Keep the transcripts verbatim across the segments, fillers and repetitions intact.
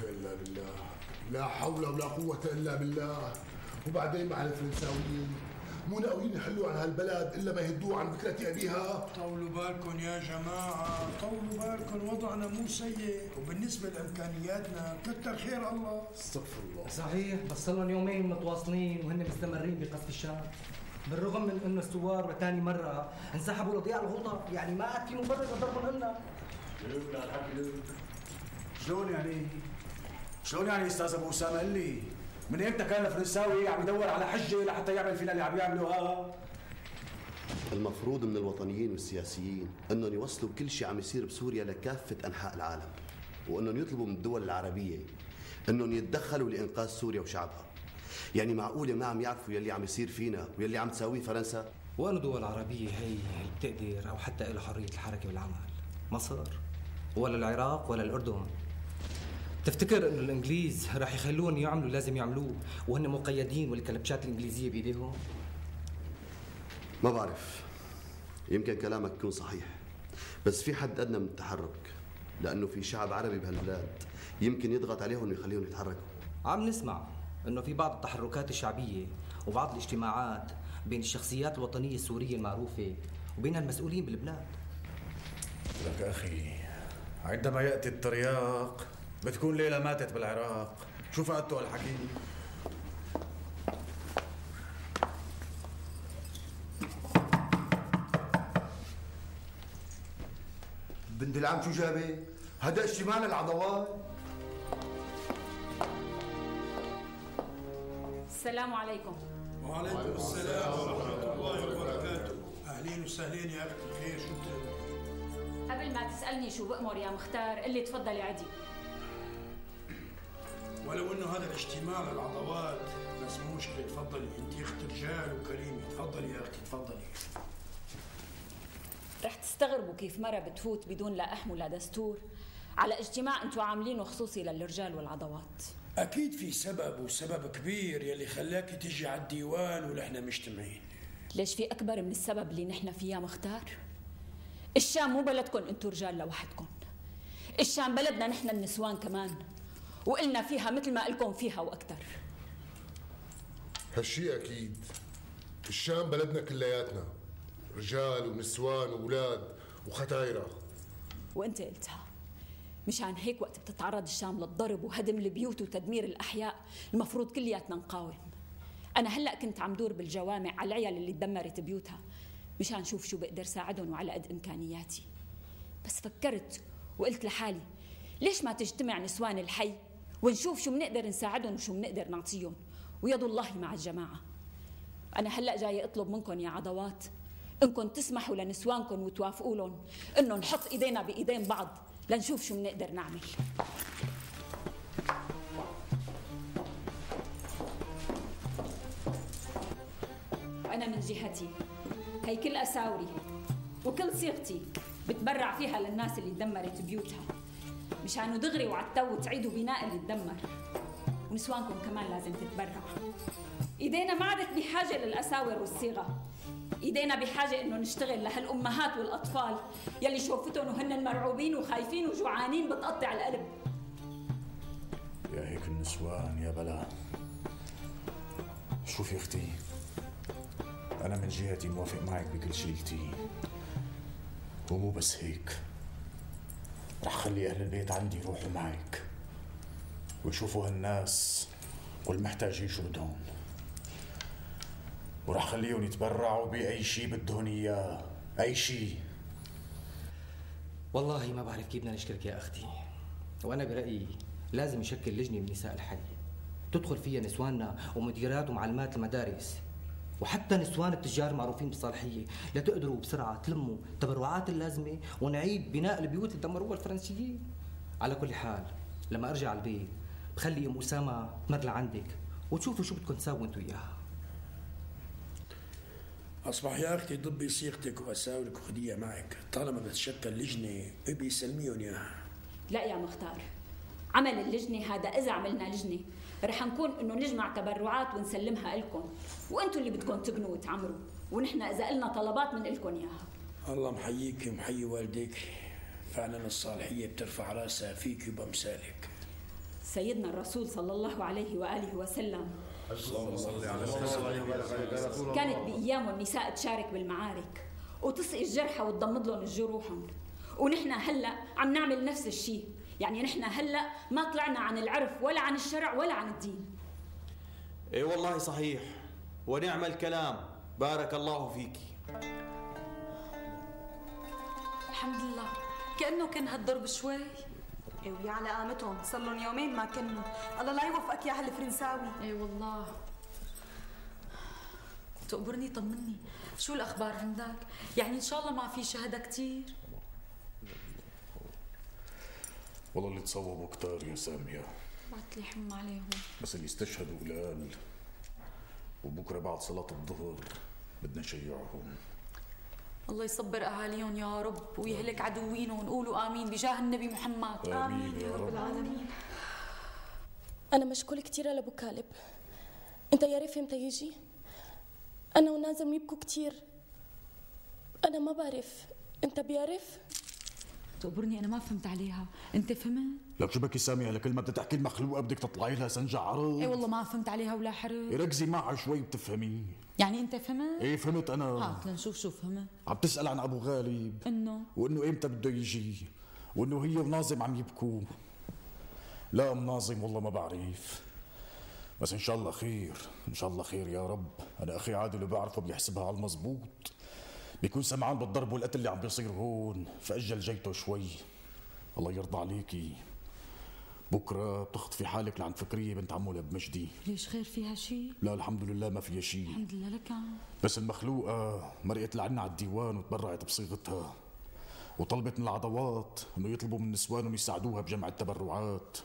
إلا بالله، لا حول ولا قوة إلا بالله. وبعدين مع الفرنساويين مو ناويين يحلوا عن هالبلد إلا ما يهدوه عن بكرة أبيها. طولوا بالكم يا جماعة، طولوا بالكم، وضعنا مو سيء، وبالنسبة لإمكانياتنا كتر خير الله. استغفر الله. صحيح، بس صار لهم يومين متواصلين وهن مستمرين بقصف الشام، بالرغم من انه الثوار لثاني مرة انسحبوا لضياع الغوطة، يعني ما عاد في مبرر لضربهم هن. شلون يعني؟ شلون يعني استاذ ابو اسامة؟ قل لي من امتى كان الفرنساوي عم يدور على حجة لحتى يعمل فينا اللي عم يعملوها؟ المفروض من الوطنيين والسياسيين انهم يوصلوا كل شيء عم يصير بسوريا لكافة انحاء العالم، وانهم يطلبوا من الدول العربية انهم يتدخلوا لانقاذ سوريا وشعبها. يعني معقولة ما عم يعرفوا يلي عم يصير فينا ويلي عم تساويه فرنسا؟ وأنا دول عربية هي هي بتقدر أو حتى إلى حرية الحركة والعمل؟ مصر ولا العراق ولا الأردن؟ تفتكر إنه الإنجليز راح يخلون يعملوا لازم يعملوه وهن مقيدين والكلبشات الإنجليزية بإيديهم؟ ما بعرف، يمكن كلامك يكون صحيح، بس في حد أدنى من التحرك، لأنه في شعب عربي بهالبلاد يمكن يضغط عليهم ويخليهم يتحركوا. عم نسمع إنه في بعض التحركات الشعبية وبعض الاجتماعات بين الشخصيات الوطنية السورية المعروفة وبين المسؤولين بالبلاد. لك أخي، عندما يأتي الترياق بتكون ليلة ماتت بالعراق. شو فاتوا هالحكي؟ بنت العم شو جابك؟ هذا اجتماع للعضوات. السلام عليكم. وعليكم السلام ورحمة الله وبركاته. أهلين وسهلين يا أختي، خير شو بتعمل؟ قبل ما تسألني شو بأمر يا مختار قل لي تفضلي عدي. ولو إنه هذا الاجتماع للعضوات بس مو مشكلة، تفضلي، أنت أخت رجال وكريمة، تفضلي يا أختي تفضلي. رح تستغربوا كيف مرة بتفوت بدون لا أحم ولا دستور على اجتماع أنتوا عاملينه خصوصي للرجال والعضوات. أكيد في سبب، وسبب كبير يلي خلاك تجي على الديوان ونحن مجتمعين. ليش في أكبر من السبب اللي نحن فيه يا مختار؟ الشام مو بلدكم أنتوا رجال لوحدكم، الشام بلدنا نحن النسوان كمان، وقلنا فيها مثل ما قلكم فيها وأكثر. هالشي أكيد، الشام بلدنا كلياتنا، رجال ونسوان وأولاد وختايرة. وأنت قلتها، مشان هيك وقت بتتعرض الشام للضرب وهدم البيوت وتدمير الأحياء المفروض كلياتنا نقاوم. أنا هلأ كنت عم دور بالجوامع على العيال اللي تدمرت بيوتها مشان شوف شو بقدر ساعدهم وعلى قد إمكانياتي، بس فكرت وقلت لحالي ليش ما تجتمع نسوان الحي ونشوف شو بنقدر نساعدهم وشو بنقدر نعطيهم، ويد الله مع الجماعة. أنا هلأ جاي أطلب منكم يا عضوات إنكم تسمحوا لنسوانكم وتوافقوا لهم إنه نحط إيدينا بإيدين بعض لنشوف شو بنقدر نعمل. وأنا من جهتي هي كل أساوري وكل صيغتي بتبرع فيها للناس اللي دمرت بيوتها مشانوا دغري وعالتو تعيدوا بناء اللي تدمر، ونسوانكم كمان لازم تتبرع. إيدينا ما عادت بحاجة للأساور والصيغة، إيدينا بحاجة إنه نشتغل لهالأمهات والأطفال يلي شوفتهم وهن مرعوبين وخايفين وجوعانين بتقطع القلب. يا هيك النسوان يا بلا. شوفي أختي، أنا من جهتي موافق معك بكل شيء قلتيه، ومو بس هيك، رح خلي أهل البيت عندي يروحوا معك ويشوفوا هالناس والمحتاجين شو بدهم، ورح خليهم يتبرعوا بأي شيء بدهم إياه، أي شيء. والله ما بعرف كيف بدنا نشكرك يا أختي، وأنا برأيي لازم يشكل لجنة من نساء الحي تدخل فيها نسواننا ومديرات ومعلمات المدارس وحتى نسوان التجار معروفين بالصالحية لتقدروا بسرعة تلموا التبرعات اللازمة ونعيد بناء البيوت اللي دمروها الفرنسيين. على كل حال لما أرجع على البيت بخلي أم أسامة تمر لعندك وتشوفوا شو بدكم تساووا انتوا إياها. أصبح يا أختي ضبي صيغتك وأساورك وخديها معك، طالما بتشكل لجنة ابي سلميهم إياها. لا يا مختار، عمل اللجنة هذا إذا عملنا لجنة رح نكون إنه نجمع تبرعات ونسلمها لكم، وأنتوا اللي بدكم تبنوا وتعمروا، ونحن إذا قلنا طلبات من لكم إياها. الله محييك ومحيي والديك، فعلا الصالحية بترفع راسها فيك وبأمثالك. سيدنا الرسول صلى الله عليه وآله وسلم كانت بأيامه النساء تشارك بالمعارك وتسقي الجرحى وتضمد لهم جروحهم، ونحن هلا عم نعمل نفس الشيء. يعني نحن هلا ما طلعنا عن العرف ولا عن الشرع ولا عن الدين. اي والله صحيح، ونعم الكلام، بارك الله فيكي. الحمد لله، كأنه كان هالضرب شوي. ايه ويا على قامتهم، صار لهم يومين ما كنوا، الله لا يوفقك يا هالفرنساوي. اي والله. تقبرني طمني، شو الأخبار عندك؟ يعني إن شاء الله ما في شهداء كتير؟ والله اللي تصوبوا كتار يا سامية، بعت لي حم عليهم، بس اللي استشهدوا قلال، وبكره بعد صلاة الظهر بدنا نشيعهم. الله يصبر أهاليهم يا رب ويهلك عدوينهم، ونقولوا آمين بجاه النبي محمد. آمين يا رب العالمين. أنا مشكول كتير لأبو كالب. أنت يا ريت امتى يجي؟ أنا ونازم يبكوا كتير. أنا ما بعرف، أنت بيعرف؟ تقبرني أنا ما فهمت عليها، أنت فهمت؟ لك شو بكي سامية، لكل ما بدها تحكي المخلوقة بدك تطلعي لها سنجة عرض. اي والله ما فهمت عليها ولا حرج. ركزي معها شوي بتفهمي. يعني أنت فهمت؟ ايه فهمت أنا. هات لنشوف شو فهمت. عم تسأل عن أبو غالب إنه وإنه إمتى بده يجي، وإنه هي وناظم عم يبكوا. لا أم ناظم والله ما بعرف، بس إن شاء الله خير، إن شاء الله خير يا رب. أنا أخي عادل اللي بعرفه بيحسبها على المزبوط، بيكون سمعان بالضرب والقتل اللي عم بيصير هون، فأجل جيته شوي. الله يرضى عليكي، بكره بتخطفي حالك لعند فكريه بنت عمو لبمجدي. ليش خير فيها شيء؟ لا الحمد لله ما فيها شيء. الحمد لله لك. بس المخلوقه مرقت لعنا على الديوان وتبرعت بصيغتها، وطلبت من العضوات انه يطلبوا من نسوانهم يساعدوها بجمع التبرعات،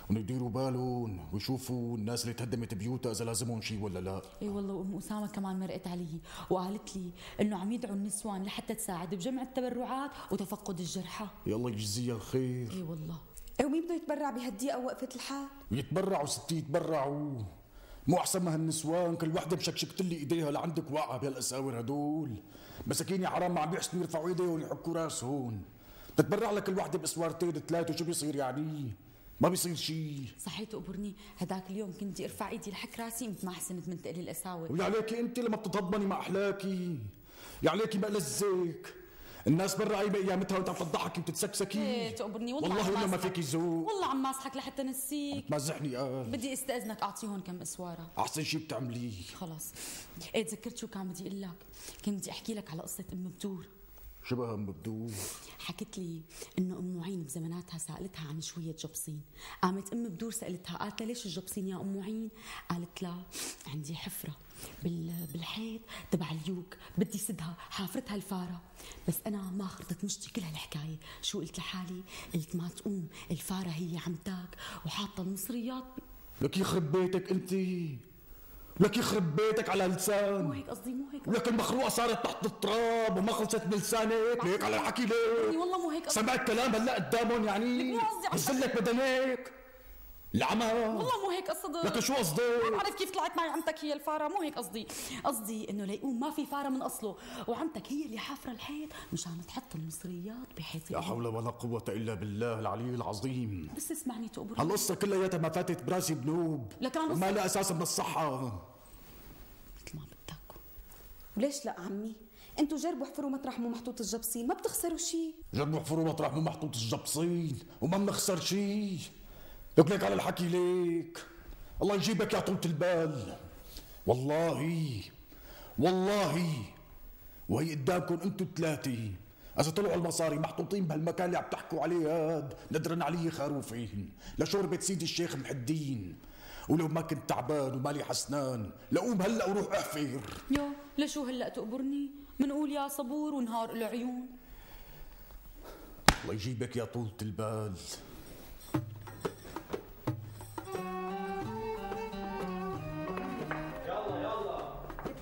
وانه يديروا بالهم ويشوفوا الناس اللي تهدمت بيوتها اذا لازمهم شيء ولا لا. اي والله، وام اسامه كمان مرقت علي وقالت لي انه عم يدعوا النسوان لحتى تساعد بجمع التبرعات وتفقد الجرحى. يا الله يجزيها الخير. اي والله. ايه ومين بده يتبرع بهالدقيقه ووقفه الحال؟ يتبرعوا ستي يتبرعوا، مو احسن ما هالنسوان كل وحده مشكشكت لي ايديها لعندك واقعه بهالاساور هدول. مساكين يا حرام ما عم بيحسنوا يرفعوا ايديهم ويحكوا راسهم. بتتبرع لك كل وحده باسوارتين ثلاثه، وشو بيصير يعني؟ ما بيصير شيء. صحيح تقبرني، هداك اليوم كنت ارفع ايدي لحك راسي مثل ما حسنت من تقلي الاساور. ويا عليكي انت لما بتتهضمني مع احلاكي، يا عليكي ما لزك. الناس برا قايمه ايامتها وانت عم تضحكي وتتسكسكي. ايه تقبرني والله، والله ولا ما فيكي ذوق. والله عم ماسحك لحتى نسيك. تمزحني قال. بدي استاذنك اعطيهم كم اسواره. احسن شيء بتعمليه. خلاص. ايه تذكرت شو كان بدي اقول لك؟ كنت بدي احكي لك على قصه ام بدور. شو بها ام بدور؟ حكت لي انه ام معين بزماناتها سالتها عن شويه جبصين، قامت ام بدور سالتها قالت لها ليش الجبصين يا ام معين؟ قالت لها عندي حفره بالحيط تبع اليوك بدي سدها، حافرتها الفاره. بس انا ما خرطت مشتي كل هالحكايه، شو قلت لحالي؟ قلت ما تقوم الفاره هي عم تاك وحاطه المصريات ب... لك يخرب بيتك انت، لك يخرب بيتك على لسان. مو هيك قصدي، مو هيك. لك المخلوقه صارت تحت التراب وما خلصت بلسانك، ليك على الحكي ليك. والله مو هيك قصدي. سمعت كلام هلا قدامهم يعني؟ بزلك بدنك العمى. والله مو هيك قصدي. لك شو قصدك؟ ما بعرف كيف طلعت معي عمتك هي الفاره، مو هيك قصدي. قصدي انه ليقوم ما في فاره من اصله، وعمتك هي اللي حافره الحيط مشان تحط المصريات بحيث. لا حول ولا قوة الا بالله العلي العظيم. بس اسمعني تقبر، هالقصة كلياتها ما فاتت براسي بنوب، وما لها اساس من الصحة. مثل ما بدك. وليش لا عمي؟ انتوا جربوا احفروا مطرح مو محطوط الجبصين، ما بتخسروا شيء. جربوا احفروا مطرح مو محطوط الجبصين وما بنخسر شيء. لك ليك على الحكي ليك، الله يجيبك يا طولة البال. والله والله وهي قدامكم انتوا الثلاثة، اذا طلعوا المصاري محطوطين بهالمكان اللي عم تحكوا عليه هاد ندرن علي خروفين لشوربة سيدي الشيخ محي الدين. ولو ما كنت تعبان ومالي حسنان لقوم هلا وروح احفر. يو لشو هلا تقبرني؟ منقول يا صبور ونهار العيون. الله يجيبك يا طولة البال.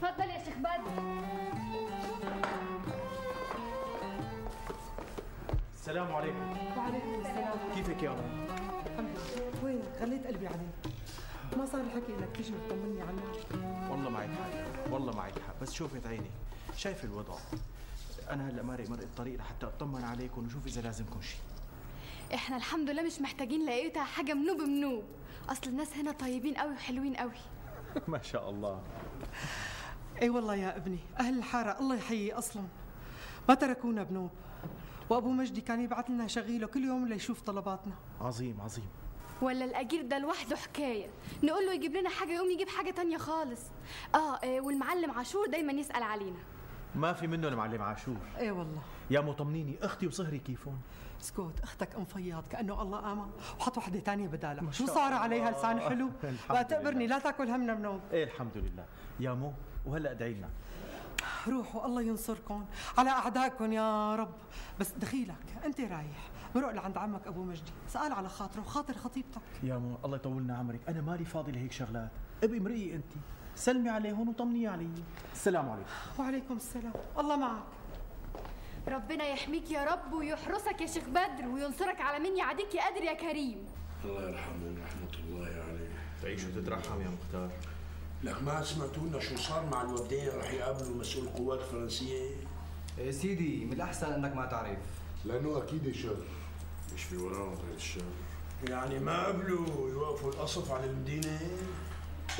تفضل يا شيخ بدر. السلام عليكم. وعليكم السلام. كيفك يا رب؟ الحمد لله. وين خليت قلبي عليك، ما صار الحكي انك تيجي وتطمني عنك. والله معك حق، والله معك حق، بس شوفت عيني شايف الوضع. انا هلا مارق مرق الطريق لحتى اطمن عليكم وشوف اذا لازمكم شيء. احنا الحمد لله مش محتاجين لقيتها حاجه منوب منوب، اصل الناس هنا طيبين قوي وحلوين قوي. ما شاء الله. اي والله يا ابني، اهل الحاره الله يحيي اصلا ما تركونا بنوب، وابو مجدي كان يبعث لنا شغيله كل يوم ليشوف طلباتنا. عظيم عظيم. ولا الاجير ده لوحده حكايه، نقول له يجيب لنا حاجه يقوم يجيب حاجه تانية خالص. اه, آه والمعلم عاشور دايما يسال علينا. ما في منه المعلم عاشور. اي والله. يا مو طمنيني، اختي وصهري كيفون؟ اسكت، اختك ام فياض كانه الله امن وحط وحده ثانيه بدالها. شو صار عليها لسان حلو؟ لا تقبرني، لا تاكل همنا بنوم. ايه الحمد لله يا مو، وهلا ادعي لنا. روحوا الله ينصركم على اعدائكم يا رب. بس دخيلك انت رايح بروح لعند عمك ابو مجدي، سأل على خاطره وخاطر خطيبتك. يا مو الله يطولنا عمرك، انا مالي فاضي لهيك شغلات. ابقي امرئي انت، سلمي عليهم وطمني علي. السلام عليكم. وعليكم السلام، الله معك. ربنا يحميك يا رب ويحرسك يا شيخ بدر وينصرك على من يعاديك يا قادر يا كريم. الله يرحمه ورحمة الله عليه. تعيش وتترحم يا مختار. لك ما سمعتوا لنا شو صار مع الوفدين رح يقابلوا مسؤول القوات الفرنسية؟ إيه سيدي، من الأحسن أنك ما تعرف. لأنه أكيد شر. مش في وراهم غير الشر. يعني ما قبلوا يوقفوا القصف على المدينة؟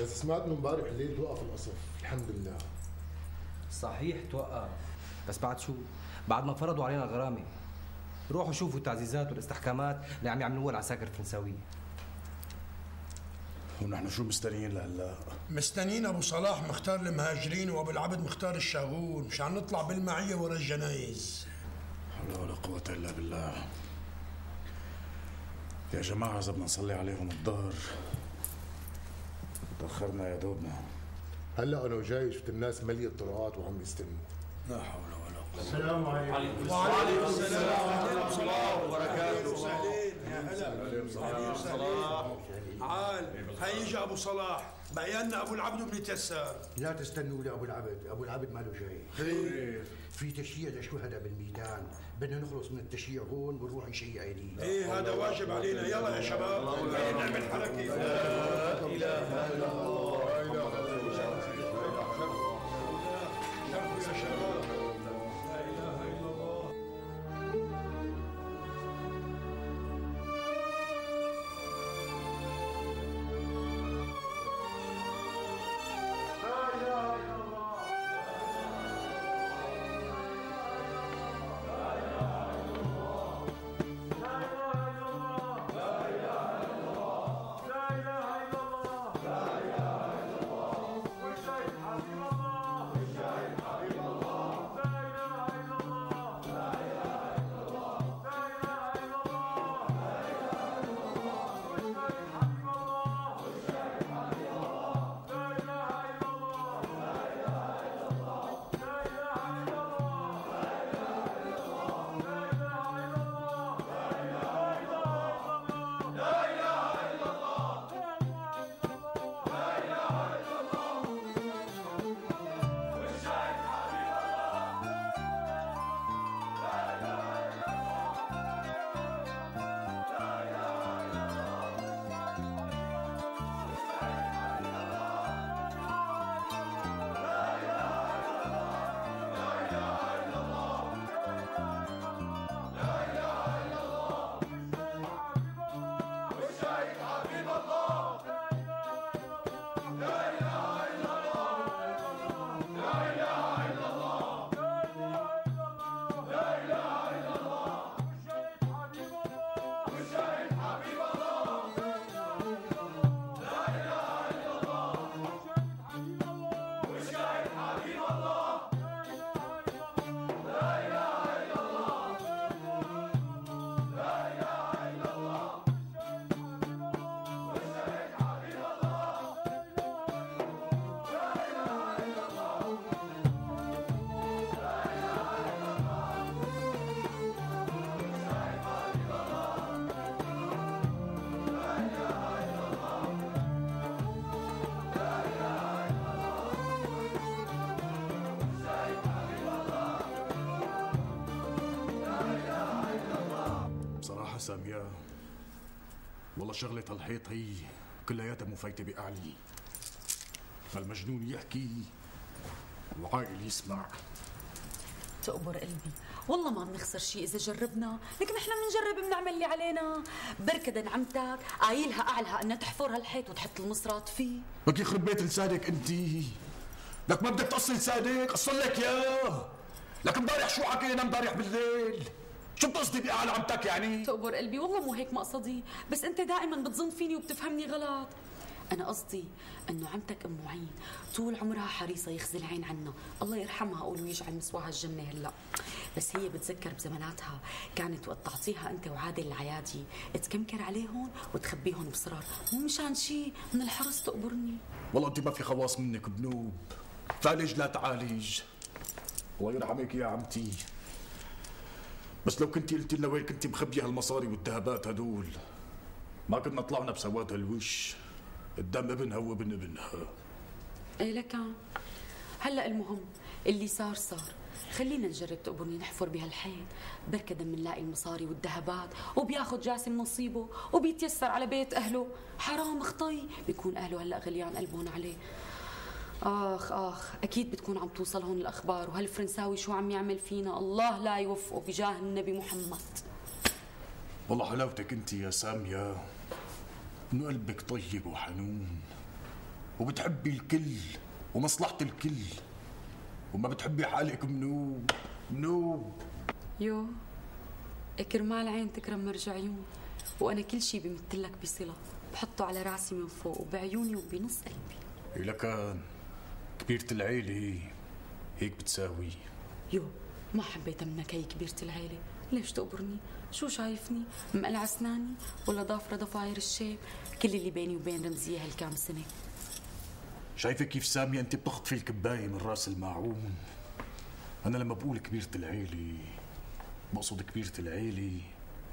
بس سمعت انه امبارح الليل توقف القصف، الحمد لله. صحيح توقف، بس بعد شو؟ بعد ما فرضوا علينا الغرامة. روحوا شوفوا التعزيزات والاستحكامات اللي عم يعملوها العساكر الفرنساوية. ونحن شو مستنيين لهلا؟ مستنيين ابو صلاح مختار المهاجرين وابو العبد مختار الشاغول، مشان نطلع بالمعية ورا الجنايز. حول ولا قوة الا بالله. يا جماعة إذا بدنا نصلي عليهم الظهر تأخرنا يا دوبنا. هلا أنا وجاي شفت الناس مليئة الطرقات وعم يستلموا. لا حول ولا قوة. السلام عليكم. وعليكم السلام ورحمة الله وبركاته. يا هلا. صلاح. عال هي يجي أبو صلاح، بقينا أبو العبد بن تيسار. لا تستنوا لأبو العبد، أبو العبد ماله جاي. خير. في تشييع للشهداء بالميدان، بدنا نخلص من التشييع هون ونروح نشيع عيدين. ايه هذا واجب علينا، يلا يا شباب خلينا نعمل حركة. لا إله إلا الله. لا إله إلا الله. شرفوا يا شباب. لا إله إلا الله. سامية والله شغلة هالحيط هي كلياتها مفايتة بأعلي. المجنون يحكي وعاقل يسمع. تقبر قلبي، والله ما بنخسر شيء إذا جربنا، لكن إحنا بنجرب بنعمل اللي علينا. بركة نعمتك قايلها أعلها أنها تحفر هالحيط وتحط المصرات فيه. لك يخرب بيت لسانك أنت، لك ما بدك تقصي لسانك، قصر لك ياه. لك امبارح شو حكينا امبارح بالليل؟ شو بتقصدي بأعلى عمتك يعني؟ تقبر قلبي والله مو هيك مقصدي، بس أنت دائما بتظن فيني وبتفهمني غلط. أنا قصدي إنه عمتك أم معين طول عمرها حريصة يخزي العين عنا، الله يرحمها قولوا يجعل مسواها الجنة هلا، بس هي بتذكر بزماناتها كانت وقت تعطيها أنت وعادل العيادي تكمكر عليهم وتخبيهم بصرار، مو مشان شيء من الحرص تقبرني. والله أنت ما في خواص منك بنوب، تعالج لا تعالج. الله يرحمك يا عمتي، بس لو كنتي قلتي لنا وين كنتي مخبيه هالمصاري والذهبات هدول ما كنا طلعنا بسواد هالوش قدام ابنها وابن ابنها. ايه لكان هلا المهم اللي صار صار، خلينا نجرب تقبرني نحفر بهالحيط، بركة بنلاقي المصاري والذهبات وبياخذ جاسم نصيبه وبيتيسر على بيت اهله. حرام خطي بيكون اهله هلا غليان قلبهم عليه. اخ اخ اكيد بتكون عم توصلهم الاخبار، وهالفرنساوي شو عم يعمل فينا، الله لا يوفقه بجاه النبي محمد. والله حلاوتك انت يا ساميه انه قلبك طيب وحنون وبتحبي الكل ومصلحة الكل وما بتحبي حالك منوب منوب. يو كرمال عين تكرم مرجع عيون، وانا كل شي بمثلك بصلة بحطه على راسي من فوق وبعيوني وبنص قلبي. إيه لكان كبيرة العيلة هيك بتساوي. يو ما حبيت منك هي كبيرة العيلة، ليش تقبرني؟ شو شايفني؟ مقلع اسناني ولا ضافرة ضفاير الشيب؟ كل اللي بيني وبين رمزية هالكام سنة. شايفة كيف سامية انت بتخطفي الكباية من راس الماعون؟ أنا لما بقول كبيرة العيلة بقصد كبيرة العيلة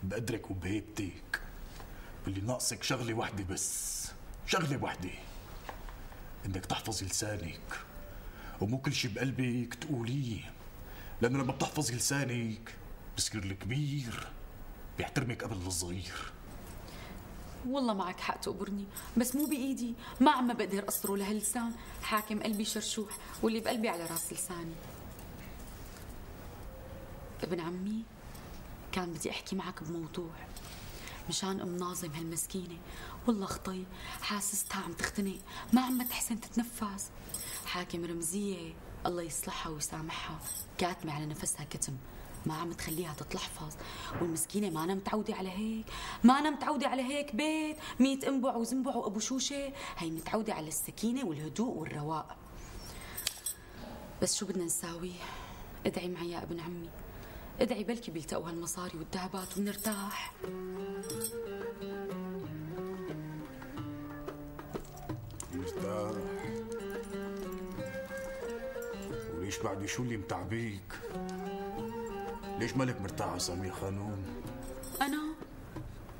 بقدرك وبهيبتك، واللي ناقصك شغلة وحدة بس، شغلة وحدة، انك تحفظي لسانك ومو كل شي بقلبك تقوليه، لأنه لما بتحفظي لسانك بصير الكبير بيحترمك قبل الصغير. والله معك حق تقبرني، بس مو بإيدي، ما عم بقدر أقصره لهاللسان، حاكم قلبي شرشوح واللي بقلبي على راس لساني. ابن عمي كان بدي أحكي معك بموضوع مشان أم ناظم هالمسكينة، والله خطي حاسستها عم تختنق ما عم تحسن تتنفس. حاكم رمزية الله يصلحها ويسامحها كاتمة على نفسها كتم، ما عم تخليها تتلحفظ، والمسكينة ما أنا متعودة على هيك، ما أنا متعودة على هيك بيت ميت انبع وزنبع وأبو شوشة، هي متعودة على السكينة والهدوء والرواق. بس شو بدنا نساوي؟ ادعي معي يا ابن عمي، ادعي بلكي بيلتقوا هالمصاري والذهبات ونرتاح. مرتاح؟ وليش بعدي شو اللي متعبيك؟ ليش مالك مرتاحة سامية خانوم؟ أنا؟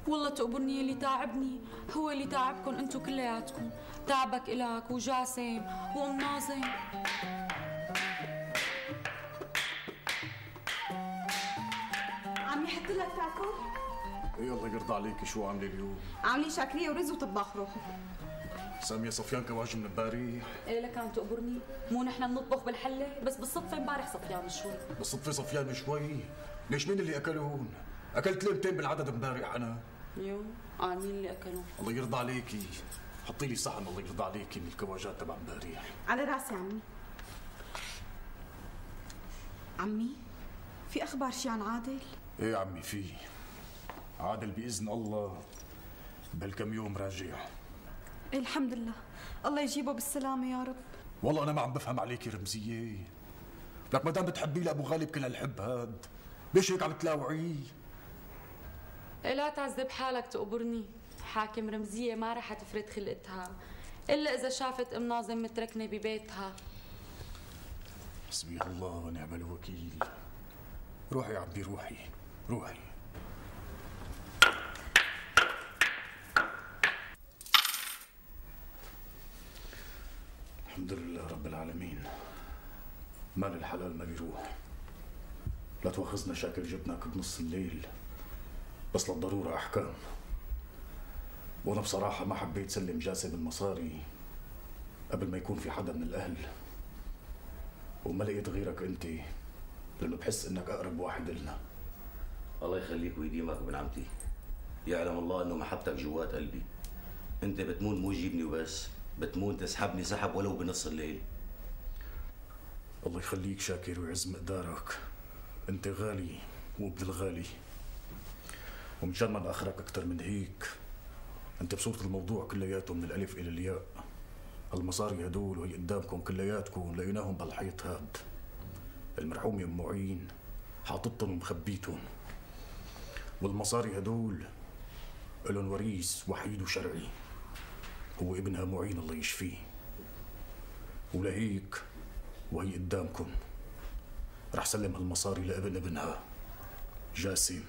والله تقبرني اللي تعبني هو اللي تعبكم انتو كلياتكم، تعبك إلك وجاسم وأم ناظم. عم يحط لك تاكل؟ ايه الله يرضى عليكي، شو عاملة اليوم؟ عاملين شاكرية ورز وطباخ روحي. سامية صفيان كواجه من امبارح؟ ايه لك عم تقبرني؟ مو نحن بنطبخ بالحلة، بس بالصدفة امبارح صفيان شوي. بالصدفة صفيان شوي؟ ليش مين اللي اكلون؟ اكلت ليمتين بالعدد امبارح انا. يو اه مين اللي اكلون؟ الله يرضى عليكي، حطي لي صحن الله يرضى عليكي من الكواجات تبع امبارح. على راسي عمي. عمي في اخبار شي عن عادل؟ ايه يا عمي في. عادل باذن الله بهالكم يوم راجع. إيه الحمد لله، الله يجيبه بالسلامة يا رب. والله أنا ما عم بفهم عليكي رمزية، لك ما دام بتحبي لأبو غالب كل هالحب هاد، ليش هيك عم تلاوعيه؟ إيه لا تعذب حالك تقبرني، حاكم رمزية ما رح تفرد خلقتها إلا إذا شافت أم ناظم متركنة ببيتها. حسبي الله ونعم الوكيل. روحي يا عمي روحي روحي. الحمد لله رب العالمين. مال الحلال ما بيروح. لا تواخذنا شاكر جبناك بنص الليل، بس للضرورة أحكام. وأنا بصراحة ما حبيت سلم جاسم المصاري قبل ما يكون في حدا من الأهل، وما لقيت غيرك أنت لأنه بحس إنك أقرب واحد إلنا. الله يخليك ويديمك ابن عمتي. يعلم الله إنه محبتك جوات قلبي. أنت بتمون مو تجيبني وبس، بتمون تسحبني سحب ولو بنص الليل. الله يخليك شاكر ويعز مقدارك. أنت غالي وابن الغالي. ومشان ما نأخرك أكثر من هيك، أنت بصورة الموضوع كلياته من الألف إلى الياء. المصاري هدول وهي قدامكم كلياتكم لقيناهم بالحيط هاد. المرحوم ام معين حاططهم ومخبيتهم، والمصاري هدول لهم وريث وحيد وشرعي هو ابنها معين الله يشفيه. ولهيك وهي قدامكم رح سلم هالمصاري لابن ابنها جاسم،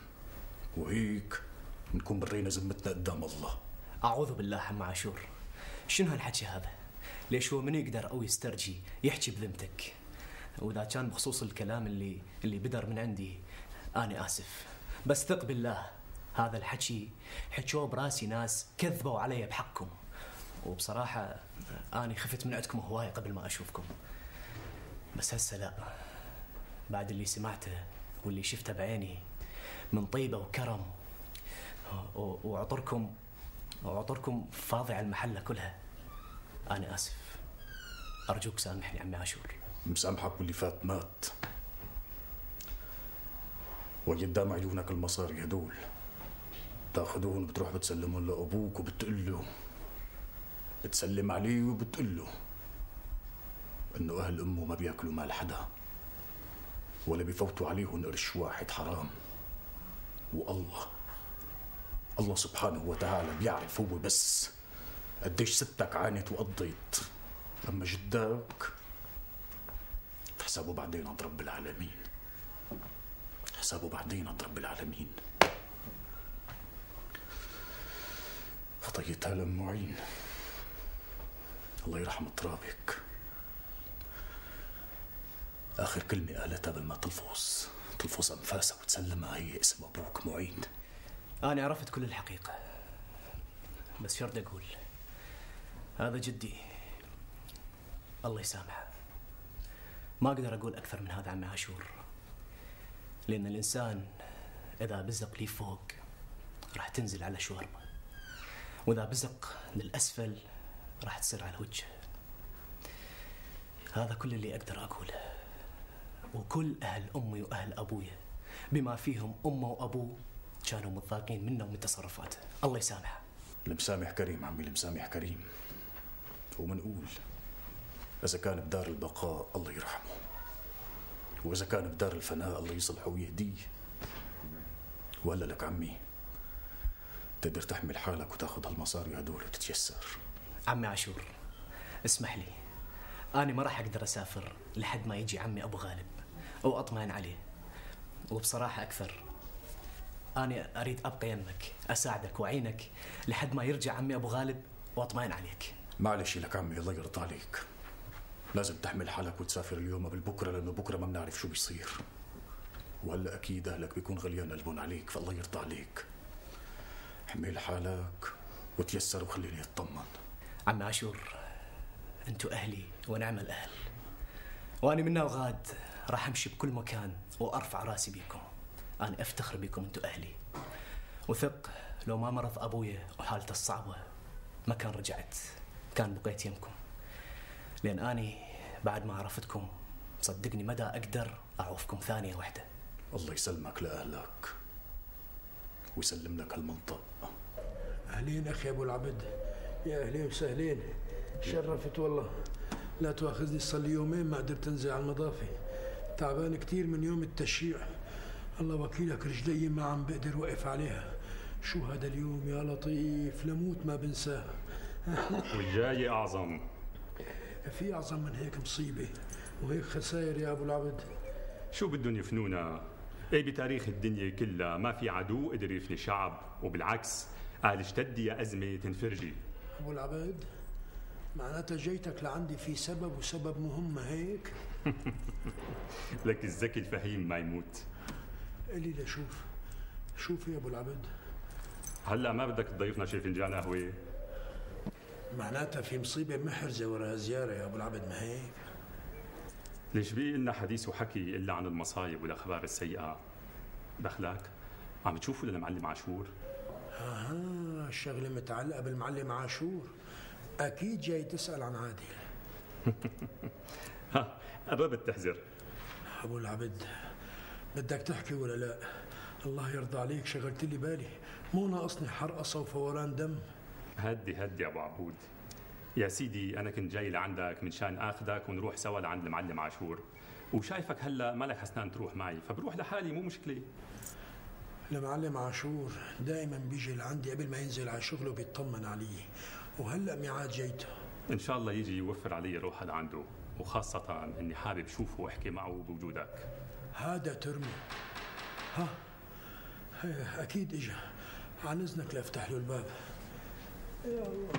وهيك بنكون برينا ذمتنا قدام الله. أعوذ بالله عم عاشور، شنو هالحكي هذا؟ ليش هو من يقدر أو يسترجي يحكي بذمتك؟ وإذا كان بخصوص الكلام اللي اللي بدر من عندي أنا آسف، بس ثق بالله هذا الحكي حكوه براسي ناس كذبوا علي بحقكم، وبصراحة أنا خفت من عندكم هواية قبل ما أشوفكم، بس هسه لا، بعد اللي سمعته واللي شفته بعيني من طيبة وكرم وعطركم وعطركم فاضي على المحلة كلها، أنا آسف، أرجوك سامحني عمي عاشور. مسامحك واللي فات مات. وقدام عيونك المصاري هدول تاخذوهم وبتروح بتسلمهم لأبوك وبتقول له، بتسلم عليه وبتقول له إنه أهل أمه ما بياكلوا مال حدا ولا بيفوتوا عليهم قرش واحد حرام، والله الله سبحانه وتعالى بيعرف هو بس قديش ستك عانت وقضيت، أما جدك حسابه بعدين عند رب العالمين، حسابه بعدين عند رب العالمين. خطيتها لأم معين الله يرحم ترابك، آخر كلمة قالتها قبل ما تلفظ تلفظ أنفاسها وتسلمها هي اسم أبوك معين. أنا عرفت كل الحقيقة، بس شرط أقول هذا جدي الله يسامحه، ما أقدر أقول أكثر من هذا عمي عاشور، لأن الإنسان إذا بزق لي فوق راح تنزل على شواربه، وإذا بزق للأسفل راح تصير على وجهه. هذا كل اللي أقدر أقوله، وكل أهل أمي وأهل أبويا بما فيهم أمه وأبوه كانوا متضايقين منه ومن تصرفاته، الله يسامحه. المسامح كريم عمي، المسامح كريم، ومنقول إذا كان بدار البقاء الله يرحمه، وإذا كان بدار الفناء الله يصلحه ويهديه. وهلا لك عمي تقدر تحمل حالك وتاخذ هالمصاري هدول وتتيسر. عمي عاشور اسمح لي، أنا ما راح أقدر أسافر لحد ما يجي عمي أبو غالب أو أطمئن عليه، وبصراحة أكثر أنا أريد أبقى يمك أساعدك وأعينك لحد ما يرجع عمي أبو غالب وأطمئن عليك. معلش لك عمي الله يرضى عليك، لازم تحمل حالك وتسافر اليوم قبل بكره، لانه بكره ما بنعرف شو بيصير، وهلا اكيد اهلك بيكون غليان قلبهم عليك، فالله يرضى عليك. حمل حالك وتيسر وخليني اطمن. عم عاشور انتو اهلي ونعم الاهل، واني منا وغاد راح امشي بكل مكان وارفع راسي بيكم، انا افتخر بيكم انتو اهلي، وثق لو ما مرض ابويا وحالته الصعبه ما كان رجعت، كان بقيت يمكم، لأن أني بعد ما عرفتكم صدقني مدى أقدر أعوفكم ثانية واحدة. الله يسلمك لأهلك ويسلم لك هالمنطق. أهلين أخي أبو العبد، يا أهلين وسهلين، شرفت والله. لا تواخذني صار لي يومين ما قدرت أنزل على المضافة، تعبان كتير من يوم التشييع، الله وكيلك رجلي ما عم بقدر وقف عليها. شو هذا اليوم يا لطيف، لموت ما بنساه. والجاي أعظم. في أعظم من هيك مصيبة وهيك خسائر يا أبو العبد. شو بدهم يفنونا؟ ايه بتاريخ الدنيا كلها ما في عدو قدر يفني شعب، وبالعكس قال اشتدي يا أزمة تنفرجي. أبو العبد معناتها جيتك لعندي في سبب وسبب مهم هيك؟ لك الذكي الفهيم ما يموت. قلي لشوف، شوف يا أبو العبد، هلا ما بدك تضيفنا شي فنجان قهوة؟ معناتها في مصيبة محرزة ورا زيارة يا أبو العبد، ما هيك؟ ليش بقي لنا حديث وحكي الا عن المصايب والاخبار السيئه؟ دخلك؟ عم تشوفوا للمعلم عاشور؟ اها الشغله متعلقه بالمعلم عاشور. اكيد جاي تسال عن عادل. ها قربت تحذر. ابو العبد بدك تحكي ولا لا؟ الله يرضى عليك شغلت لي بالي، مو ناقصني حرقصه وفوران دم. هدي هدي ابو عبود. يا سيدي انا كنت جاي لعندك من شان اخذك ونروح سوا لعند المعلم عاشور، وشايفك هلا مالك حسنان تروح معي، فبروح لحالي مو مشكله. المعلم عاشور دائما بيجي لعندي قبل ما ينزل على شغله بيطمن علي، وهلا ميعاد جيته. ان شاء الله يجي يوفر علي روح لعنده، وخاصه اني حابب شوفه واحكي معه بوجودك. هذا ترمي. ها اكيد اجا، عن اذنك لافتح له الباب. يا الله.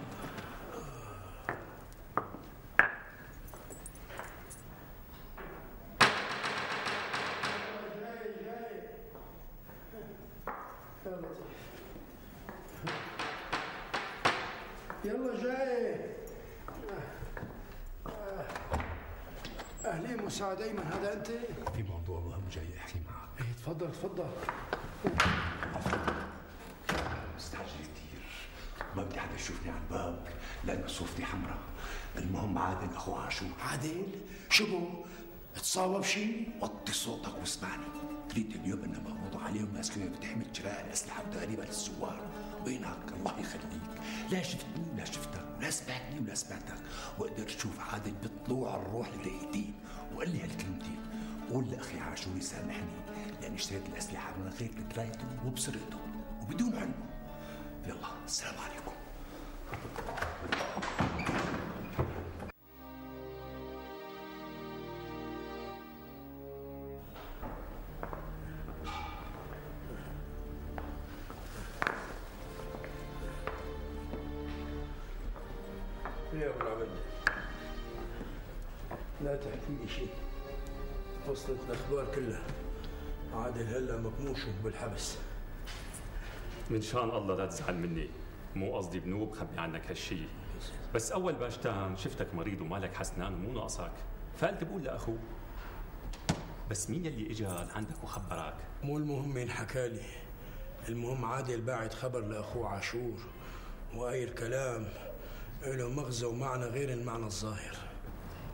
يلا جاي. اهلين مساعد ايمن، هذا انت؟ في موضوع مهم جاي احكي معك. ايه تفضل تفضل. مستعجل كثير، ما بدي حدا يشوفني على الباب لانه صورتي حمراء. المهم عادل اخو عاشور. عادل؟ شبه؟ تصاوب شيء؟ وطي صوتك واسمعني. تريد اليوم انه مقبوض عليهم ناس كانوا بتحمل شراء الاسلحه وتقريبا للزوار. وينك الله يخليك، لا شفتني ولا شفتك ولا سمعتني ولا سمعتك، وقدرت اشوف عادل بطلوع الروح لليتيم وقال لي هالكلمتين. قول لاخي عاشور يسامحني لاني اشتريت الاسلحه من غير درايته وبسرقته وبدون علمه. يلا السلام عليكم. يا ابو العبد لا تحكي لي شيء، وصلت الاخبار كلها. عادل هلا مكموش بالحبس. من شان الله لا تزعل مني، مو قصدي بنوب خبي عنك هالشيء، بس اول باش تام شفتك مريض ومالك حسنان ومو ناقصك، فقلت بقول لاخوه. بس مين يلي اجى لعندك وخبرك؟ مو المهم مين حكالي، المهم عادل باعت خبر لاخوه عاشور، وهاي الكلام له مغزى ومعنى غير المعنى الظاهر.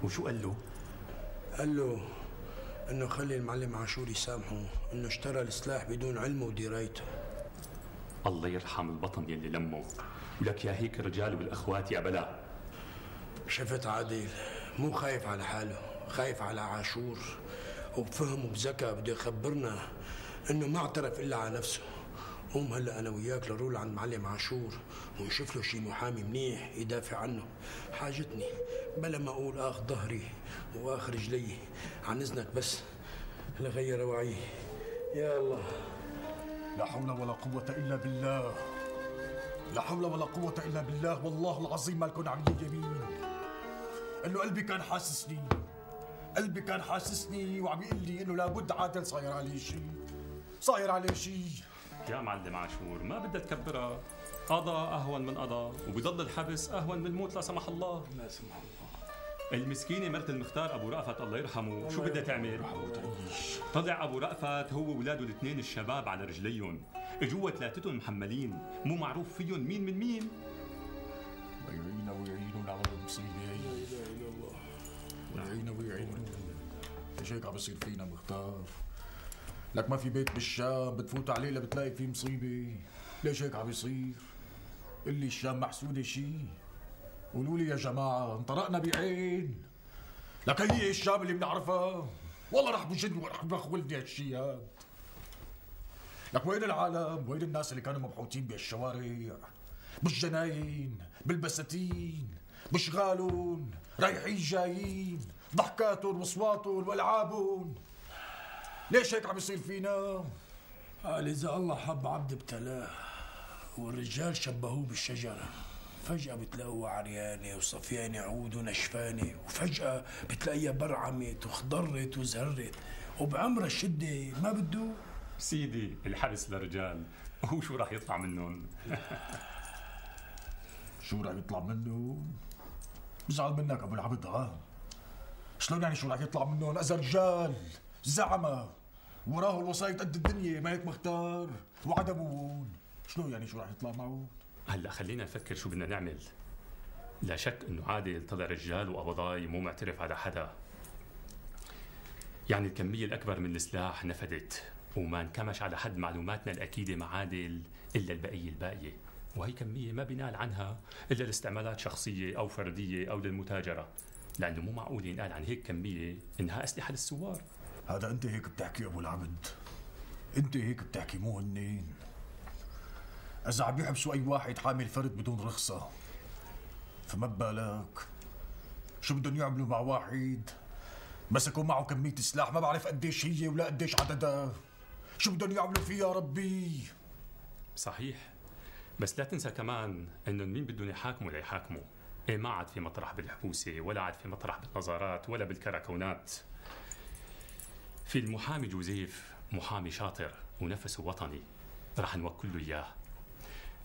وشو قال له؟ قال له انه خلي المعلم عاشور يسامحه، انه اشترى السلاح بدون علمه ودرايته. الله يرحم البطن يلي لمه، ولك يا هيك الرجال والاخوات يا بلا. شفت عادل مو خايف على حاله، خايف على عاشور، وبفهم وبذكاء بده يخبرنا انه ما اعترف الا على نفسه. قوم هلا انا وياك لنروح عند معلم عاشور ونشوف له شي محامي منيح يدافع عنه. حاجتني بلا ما اقول اخ ظهري واخ رجلي. عن اذنك بس لغير وعي. يا الله. لا حول ولا قوة إلا بالله، لا حول ولا قوة إلا بالله. والله العظيم ما لكم عاملين يمين، إنه قلبي كان حاسسني، قلبي كان حاسسني وعم يقول لي إنه لابد عادل صاير عليه شيء، صاير عليه شيء. يا معلم عاشور ما بدها تكبرها، قضاء أهون من قضاء، وبضل الحبس أهون من الموت لا سمح الله. لا سمح الله. المسكينة مرت المختار أبو رأفت الله يرحمه شو بدها تعمل؟ طلع أبو رأفت هو وولاده الاثنين الشباب على رجليهم، اجوا ثلاثتهم محملين، مو معروف فيهم مين من مين. ويعينا ويعينون على المصيبة. لا إله إلا الله. ويعينا ويعينون. ليش هيك عم بيصير فينا مختار؟ لك ما في بيت بالشام بتفوت عليه لبتلاقي فيه مصيبة. ليش هيك عم بيصير؟ اللي الشام محسودة شي. قولوا لي يا جماعة انطرقنا بعين. لك هي الشام اللي بنعرفها؟ والله رح بجن ورح بخولني هالشي هاد. لك وين العالم؟ وين الناس اللي كانوا مبحوثين بالشوارع؟ بالجناين، بالبساتين، بشغالهم، رايحين جايين، ضحكاتهم واصواتهم والعابهم. ليش هيك عم يصير فينا؟ قال إذا الله حب عبد ابتلاه، والرجال شبهوه بالشجرة، فجأة بتلاقوها عريانة وصفيانة عود ونشفانة، وفجأة بتلاقيها برعمت وخضرت وزهرت، وبعمرها الشدة ما بده. سيدي الحبس للرجال، هو شو راح يطلع منهم؟ شو راح يطلع منهم؟ بزعل منك ابو العبد. ها شلون يعني شو رح يطلع منهم؟ اذا رجال زعمة وراه الوسايط قد الدنيا، ما هيك مختار؟ وعدمون، شلون يعني شو رح يطلع معه؟ هلا خلينا نفكر شو بدنا نعمل. لا شك انه عادل طلع رجال وقبضاي مو معترف على حدا، يعني الكمية الأكبر من السلاح نفدت وما انكمش على حد معلوماتنا الأكيدة مع عادل إلا البقية الباقية، وهي كمية ما بينال عنها إلا لاستعمالات شخصية أو فردية أو للمتاجرة، لأنه مو معقول ينقال عن هيك كمية إنها أسلحة للثوار. هذا أنت هيك بتحكي أبو العبد، أنت هيك بتحكي مو هنين. إذا عم يحبسوا أي واحد حامل فرد بدون رخصة فما ببالك شو بدهم يعملوا مع واحد مسكوا معه كمية سلاح ما بعرف قديش هي ولا قديش عددها، شو بدهم يعملوا فيها ربي؟ صحيح، بس لا تنسى كمان انه مين بدهم يحاكموا ليحاكموا. ايه ما عاد في مطرح بالحبوسة ولا عاد في مطرح بالنظارات ولا بالكراكونات. في المحامي جوزيف محامي شاطر ونفسه وطني، رح نوكل له اياه.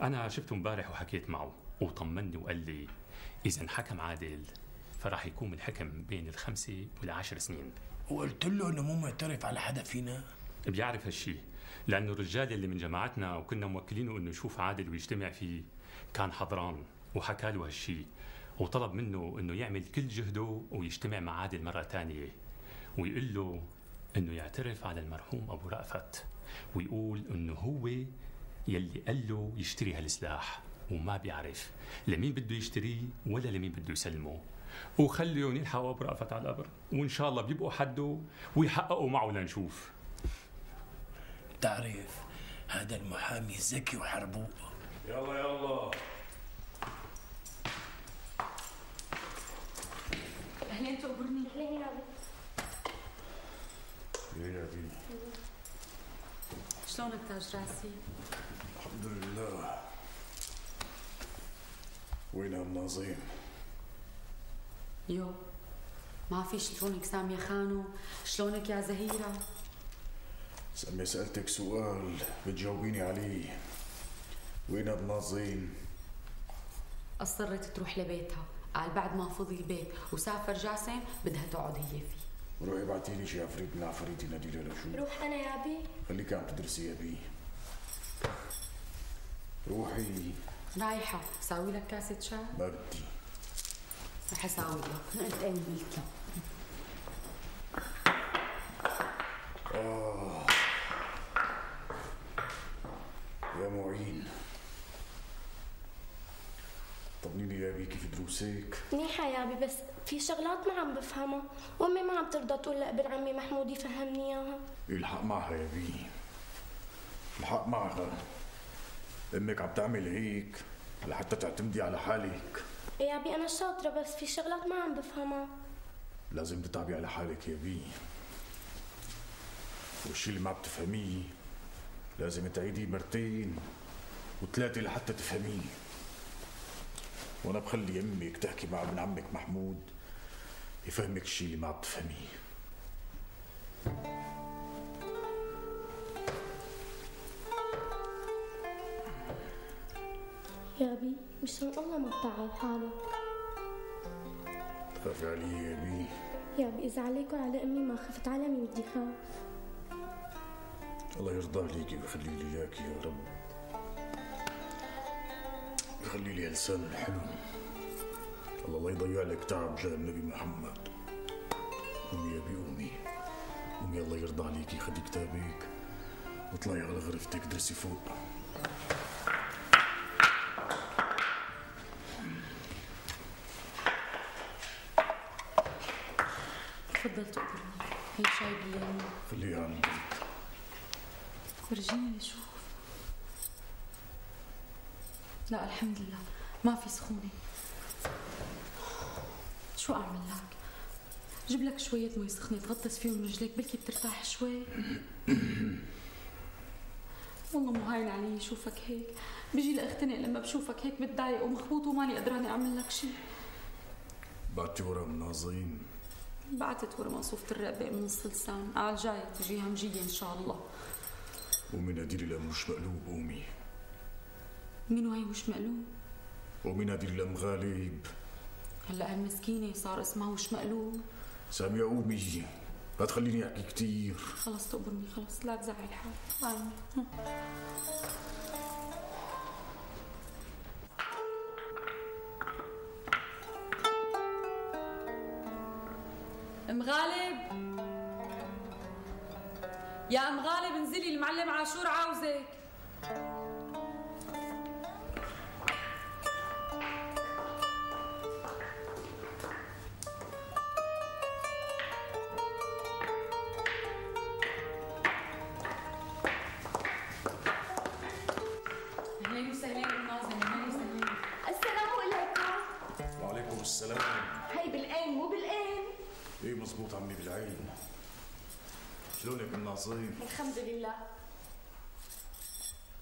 انا شفته امبارح وحكيت معه وطمني وقال لي اذا انحكم عادل فراح يكون الحكم بين الخمسة والعشر سنين. وقلت له انه مو معترف على حدا فينا؟ بيعرف هالشي، لأنه الرجال اللي من جماعتنا وكنا موكلينه انه يشوف عادل ويجتمع فيه كان حضران وحكى له هالشي، وطلب منه انه يعمل كل جهده ويجتمع مع عادل مرة ثانية ويقول له انه يعترف على المرحوم ابو رأفت ويقول انه هو يلي قال له يشتري هالسلاح وما بيعرف لمين بده يشتريه ولا لمين بده يسلمه، وخليهم يلحقوا ابو رأفت على القبر وان شاء الله بيبقوا حده ويحققوا معه لنشوف. تعرف هذا المحامي ذكي وحربوق. يلا يلا اهلين تقبرني. اهلين يا ابي. يا ابي شلونك تاج راسي؟ الحمد لله. وين النظيم؟ يو ما في. شلونك سامية خانو؟ شلونك يا زهيرة؟ سامية سألتك سؤال بتجاوبيني عليه، وين النظيم؟ أصرت تروح لبيتها، قال بعد ما فضي البيت وسافر جاسم بدها تقعد هي فيه. روحي ابعتي لي شي عفريت من عفاريتي ناديلة لشو. روح انا يا ابي. خليكي عم تدرسي يا بي. روحي. رايحة ساوي لك كاسة شاي؟ ما بدي. رح اساوي لك. قلت ايه قلت لك. آه. يا معين طمنيني يا بي كيف دروسك؟ منيحة يا ابي، بس في شغلات ما عم بفهمها وامي ما عم ترضى تقول لابن عمي محمود يفهمني اياها. الحق معها يا بي، الحق معها. امك عم تعمل هيك لحتى تعتمدي على حالك. يا ابي انا شاطرة بس في شغلات ما عم بفهمها. لازم تتعبي على حالك يا بي، والشي اللي ما بتفهميه لازم تعيديه مرتين وثلاثة لحتى تفهميه. وانا بخلي امك تحكي مع ابن عمك محمود يفهمك الشي اللي ما بتفهميه. يا ابي مشان الله ما تتعب حالك. تخافي علي يا بي؟ يا ابي اذا عليك وعلى امي ما خفت على مين بدي خاف. الله يرضى عليكي ويخلي لي اياكي يا رب، يخلي لي لسان حلو. الله لا يضيع لك تعب جاه النبي محمد. قومي يا بي قومي قومي، الله يرضى عليكي، خدي كتابك واطلعي على غرفتك درسي فوق. تفضل تقبرني. هي شاي بالليمون. خليها عندك. ورجيني شوف. لا الحمد لله ما في سخونة. شو أعمل لك؟ جيب لك شوية مي سخنة تغطس فيهم رجليك بلكي بترتاح شوي. والله مو هاين علي شوفك هيك، بيجي لاختنق لما بشوفك هيك بتضايق ومخبوط وماني قدرانة أعمل لك شيء. بعتي ورا من ناظرين؟ بعتت ورا مصوفة الرقبة من نص لسان، قال جاية تجيها مجية إن شاء الله. قومي ناديلي لأم مش مقلوب. قومي. مين وهي مش مقلوب؟ قومي ناديلي لأم غالب. هلا هالمسكينة صار اسمها وش مقلوب. سامية قومي، لا تخليني احكي كثير. خلص تقبرني، خلص لا تزعل حالك. ام غالب، يا ام غالب انزلي، المعلم عاشور عاوزك. اهلين وسهلين ام ناظم، اهلين وسهلين. السلام عليكم. وعليكم السلام. هي بالعين مو بالعين؟ ايه مزبوط عمي بالعين. شلونك ام ناظم؟ الحمد لله.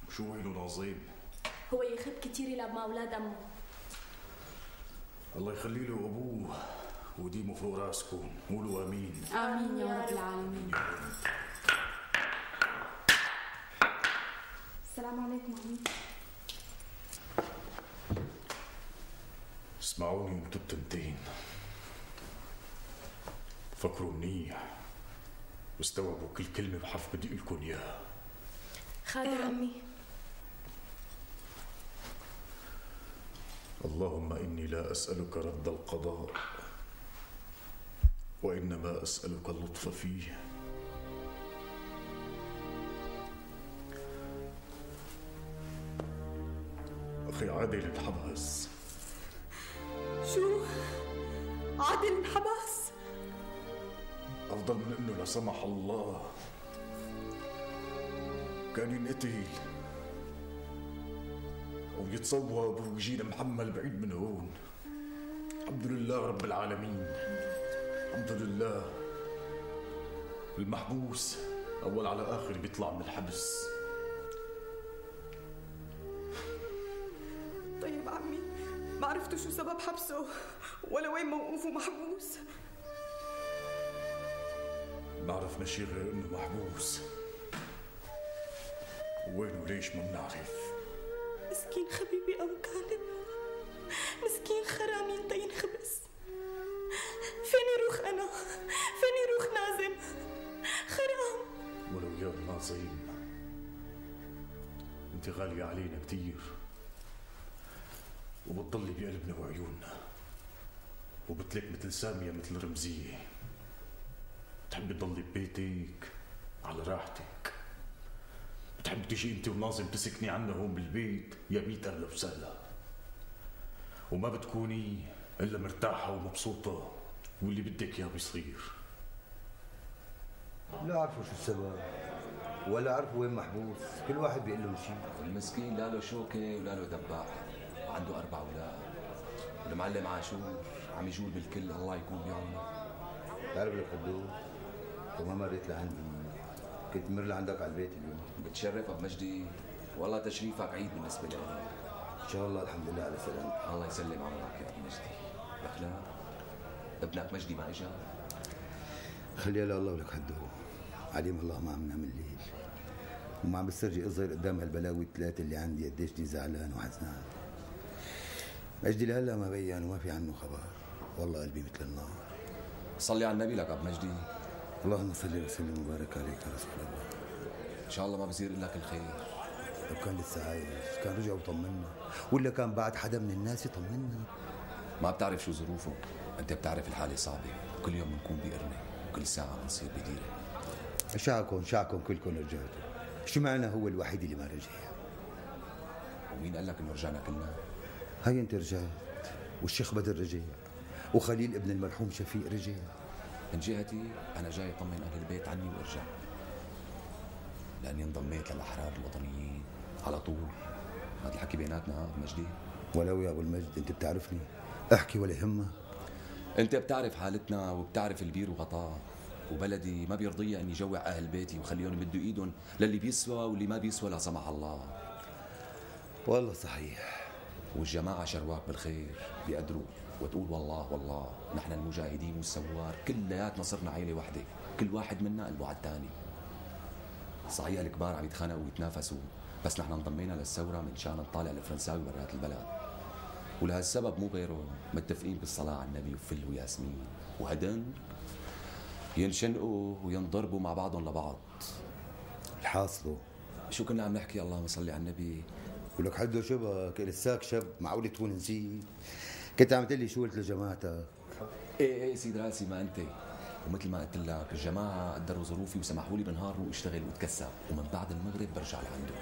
وشو وينه ناظم؟ هو يخب كتير يلعب مع اولاد امه. الله يخلي له ابوه وديمه فوق راسكم، قولوا امين. امين يا رب العالمين. السلام عليكم عمي. اسمعوني انتو التنتين، فكروا منيح واستوعبوا كل كلمة بحرف بدي لكم اياها. خادر امي. اللهم إني لا أسألك رد القضاء وإنما أسألك اللطف فيه. أخي عادل انحبس. شو؟ عادل انحبس؟ أفضل من إنه لا سمح الله كان ينقتل ويتصوب ويجينا محمل بعيد من هون. الحمد لله رب العالمين، الحمد لله. المحبوس أول على آخر بيطلع من الحبس. طيب عمي، ما عرفتوا شو سبب حبسه ولا وين موقوفه محبوس؟ ما عرفنا شي غير إنه محبوس، وين وليش ما بنعرف. مسكين حبيبي أبو كالب، مسكين خرام ينطي ينخبس. فيني روح أنا؟ فيني روح نازم؟ خرام. ولو يا ناظم انت غالية علينا كتير وبتضلي بقلبنا وعيوننا، وبتلك مثل سامية مثل رمزية، بتحبي تضلي ببيتك على راحتك، بتحب تجي انت وناظم تسكني عنا هون بالبيت يا ميت اهلا وسهلا، وما بتكوني الا مرتاحة ومبسوطة واللي بدك اياه بيصير. لا عرفوا شو السبب ولا عرفوا وين محبوس، كل واحد بيقول لهم شيء. المسكين لا له شوكة ولا له دباح، وعنده أربع أولاد، والمعلم عاشور عم يجول بالكل، الله يكون بعونه. بتعرف لك حدود، وما مريت لعندي، كنت مر لعندك على البيت اليوم. بتشرف أبو مجدي، والله تشريفك عيد بالنسبة لي. إن شاء الله الحمد لله على سلامتك. الله يسلم عمرك يا أبو مجدي. بخلاق ابنك مجدي ما إجا؟ خليها لله ولك حدود، عليم الله ما عم نعمل ليل، وما عم بسترجي اظهر قدام هالبلاوي الثلاثه اللي عندي قديش دي زعلان وحزنان. مجدي لهلا ما بين وما في عنه خبر، والله قلبي مثل النار. صلي على النبي لك ابو مجدي. اللهم صل وسلم وبارك عليك يا رسول الله. ان شاء الله ما بصير الا كل خير. لو كان لسه عايش كان رجع وطمنا، ولا كان بعد حدا من الناس يطمنا. ما بتعرف شو ظروفه، انت بتعرف الحاله صعبه، وكل يوم بنكون بقرنه وكل ساعه بنصير بديره. شعكم شعكم كلكم رجعتوا، شو معنى هو الوحيد اللي ما رجع؟ ومين قال لك انه رجعنا كلنا؟ هي انت رجعت، والشيخ بدر رجع، وخليل ابن المرحوم شفيق رجع. من جهتي انا جاي اطمن اهل البيت عني وارجع، لاني انضميت للاحرار الوطنيين على طول. هذا الحكي بيناتنا ابو مجدي. ولو يا ابو المجد انت بتعرفني، احكي ولا يهمك. انت بتعرف حالتنا وبتعرف البير وغطاه، وبلدي ما بيرضيها اني جوع اهل بيتي وخليهم يمدوا ايدهم للي بيسوى واللي ما بيسوى لا سمح الله. والله صحيح. والجماعه شرواك بالخير بيقدروا، وتقول والله والله نحن المجاهدين والثوار كلياتنا صرنا عيله وحده، كل واحد منا قلبه على الثاني. صحيح الكبار عم يتخانقوا ويتنافسوا، بس نحن انضمينا للثوره من شان نطالع الفرنساوي برات البلد. ولهالسبب مو غيرهم متفقين بالصلاة على النبي وفل وياسمين وهدن ينشنقوا وينضربوا مع بعضهم لبعض. الحاصله شو كنا عم نحكي؟ اللهم صل على النبي. ولك حده شبك لساك شب، معقول تكون نسيت؟ كنت عم تقول لي شو قلت لجماعتك؟ ايه ايه سيد راسي ما انت. ومثل ما قلت لك الجماعه قدروا ظروفي وسمحوا لي بنهار روح اشتغل واتكسب، ومن بعد المغرب برجع لعنده.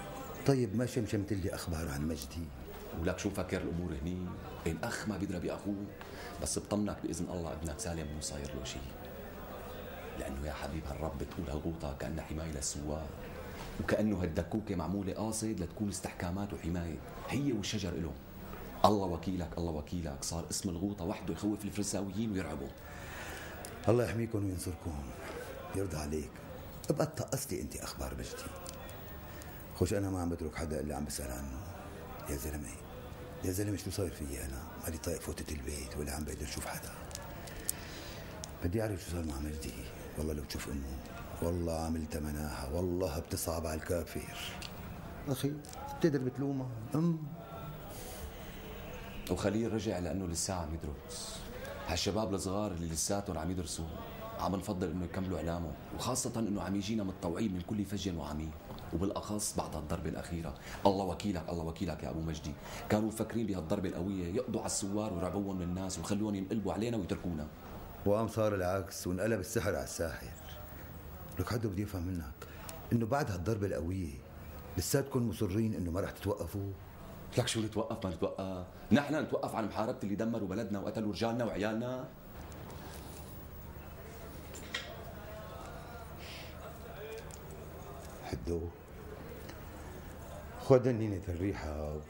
طيب ما شمشمت لي اخبار عن مجدي؟ ولك شو فكر الامور هني؟ الاخ ما بيضرب باخوه، بس بطمنك باذن الله ابنك سالم مو صاير له شيء. لانه يا حبيب هالرب بتقول هالغوطه كانها حمايه للسوار، وكانه هالدكوكه معموله قاصد لتكون استحكامات وحمايه، هي والشجر إلهم. الله وكيلك الله وكيلك، صار اسم الغوطه وحده يخوف الفرنساويين ويرعبوا. الله يحميكم وينصركم، يرضى عليك. ابقى تقص لي انت اخبار مجدي. خوش انا ما عم بترك حدا الا عم بسال عنه. يا زلمه يا زلمه شو صاير فيي انا؟ مالي طايق فوتة البيت ولا عم بقدر اشوف حدا. بدي اعرف شو صار مع مجدي. والله لو تشوف امه والله عملت مناحه، والله بتصعب على الكافر. اخي بتقدر بتلومها ام. وخليل رجع لانه لسه عم يدرس. هالشباب الصغار اللي لساتهم عم يدرسوا عم نفضل انه يكملوا اعلامهم، وخاصه انه عم يجينا متطوعين من كل فج وعميق، وبالاخص بعد هالضربه الاخيره. الله وكيلك الله وكيلك يا ابو مجدي، كانوا مفكرين بهالضربه القويه يقضوا على السوار ويرعبوهم من الناس ويخلوهم ينقلبوا علينا ويتركونا. وقام صار العكس وانقلب السحر على الساحر. لك حدا بدي افهم منك انه بعد هالضربه القويه لساتكم مصرين انه ما رح تتوقفوا؟ لك شو نتوقف ما نتوقف؟ نحن نتوقف عن محاربة اللي دمروا بلدنا وقتلوا رجالنا وعيالنا؟ حدو خذ نينة الريحة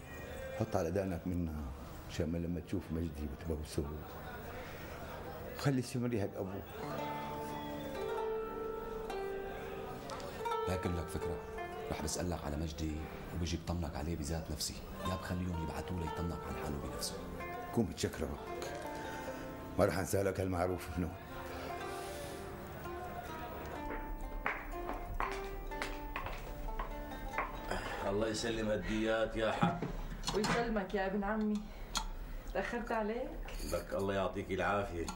حط على دقنك منها مشان ما لما تشوف مجدي بتبوسه. خلي شم ريحة ابوك. لكن لك فكرة، رح بسألك على مجدي وبيجي بطمنك عليه بذات نفسي، يا بخليهم يبعثوا له يطمنك على حاله بنفسه. كون متشكرك، ما رح انسالك هالمعروف ابنه. الله يسلم هالديات يا حق. ويسلمك يا ابن عمي، تأخرت عليك؟ لك الله يعطيك العافية.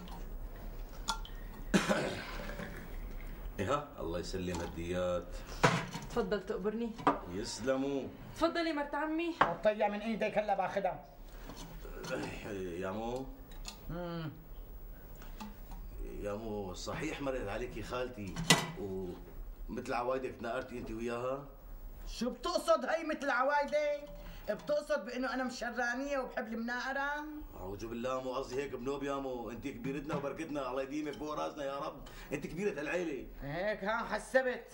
ايه الله يسلم هالديات. تفضل تقبرني. يسلموا. تفضلي مرت عمي. طيع من ايديك هلا باخذها. يا مو امم يا مو صحيح مرقت عليكي خالتي ومثل عوايدك تناقرتي انت وياها؟ شو بتقصد هي مثل عوايدي؟ بتقصد بانه انا مشرانيه وبحب المناقره؟ اعوذ بالله، مو قصدي هيك بنوب يا مو، انت كبيرتنا وبركتنا، الله يديمك فوق راسنا يا رب، انت كبيرة العيلة. هيك ها حسبت.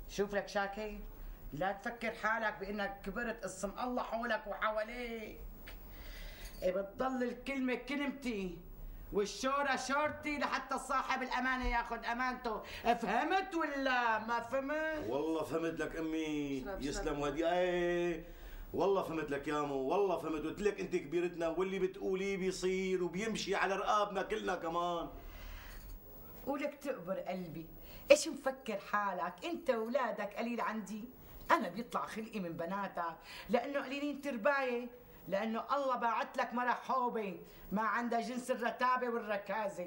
شوف لك شاكي، لا تفكر حالك بانك كبرت، اسم الله حولك وحواليك. بتضل الكلمة كلمتي والشورة شورتي لحتى صاحب الأمانة ياخذ أمانته، فهمت ولا ما فهمت؟ والله فهمت لك أمي، يسلم ودي. ايه والله فهمت لك يا مو، والله فهمت. قلت لك أنت كبيرتنا واللي بتقوليه بيصير وبيمشي على رقابنا كلنا كمان. ولك تقبر قلبي، ايش مفكر حالك؟ أنت وولادك قليل عندي؟ أنا بيطلع خلقي من بناتك لأنه قليلين ترباية، لأنه الله باعت لك مرة حوبة ما عندها جنس الرتابة والركازة.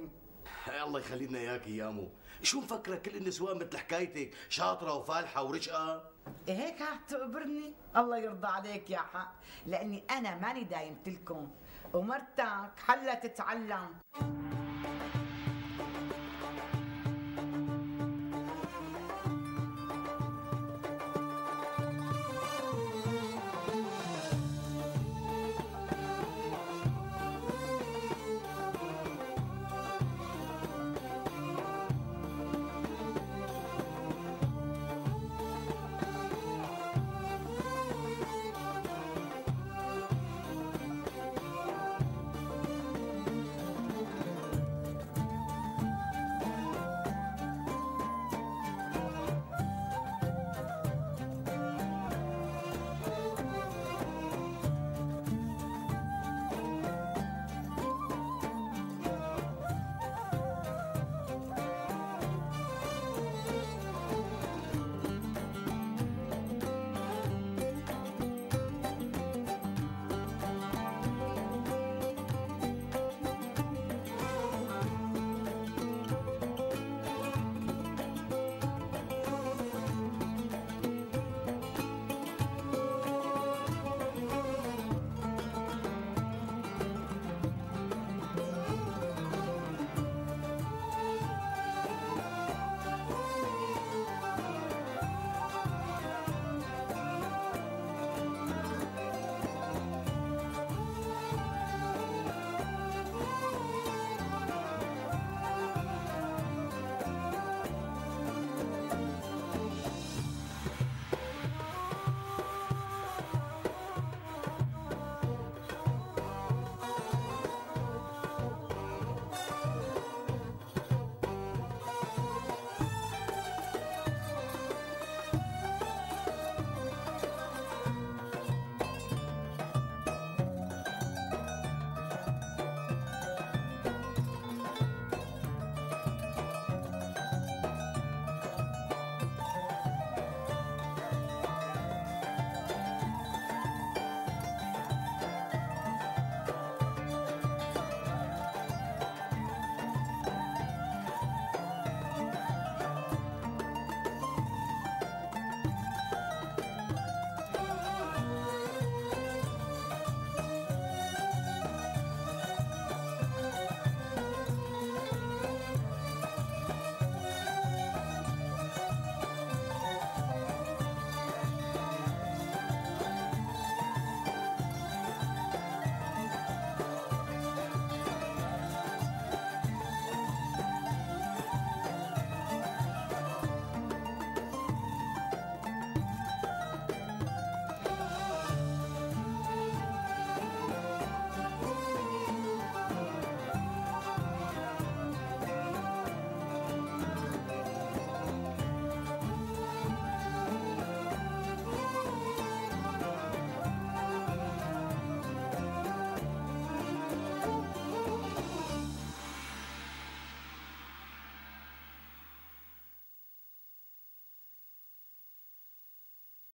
الله يخلي لنا اياكي يا مو، شو مفكرة كل النسوان مثل حكايتك شاطرة وفالحة ورشقة؟ هيك هتقبرني؟ الله يرضى عليك يا حق، لأني أنا ماني دايمت لكم ومرتك حلا تتعلم.